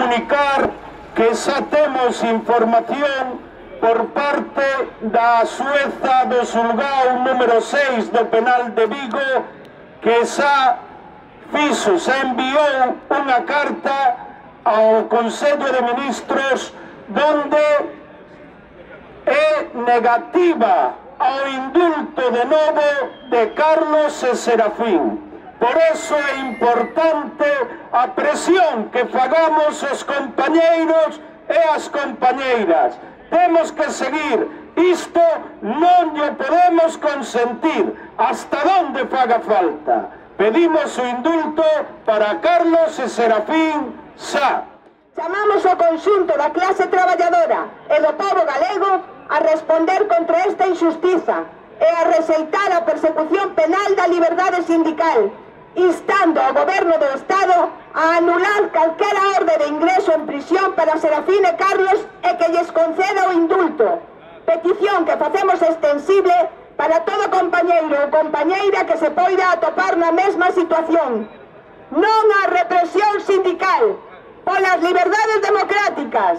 comunicar que xa temos información por parte da xueza do xulgado número 6 do penal de Vigo, que xa enviou unha carta ao Consello de Ministros donde é negativa ao indulto de novo de Carlos e Serafín. Por eso é importante a presión que fagamos os compañeiros e as compañeiras. Temos que seguir. Isto non lle podemos consentir hasta donde faga falta. Pedimos o indulto para Carlos e Serafín xa. Chamamos ao conxunto da clase traballadora e do pobo galego a responder contra esta injustiza e a rexeitar a persecución penal da liberdade sindical, instando ao goberno do Estado a anular calquera orde de ingreso en prisión para Serafín e Carlos e que lles conceda o indulto. Petición que facemos extensible para todo compañeiro ou compañeira que se poida atopar na mesma situación. Non á represión sindical, polas liberdades democráticas.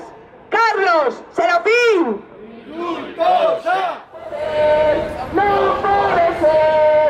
Carlos, Serafín! ¡Indulto xa! Non pode ser!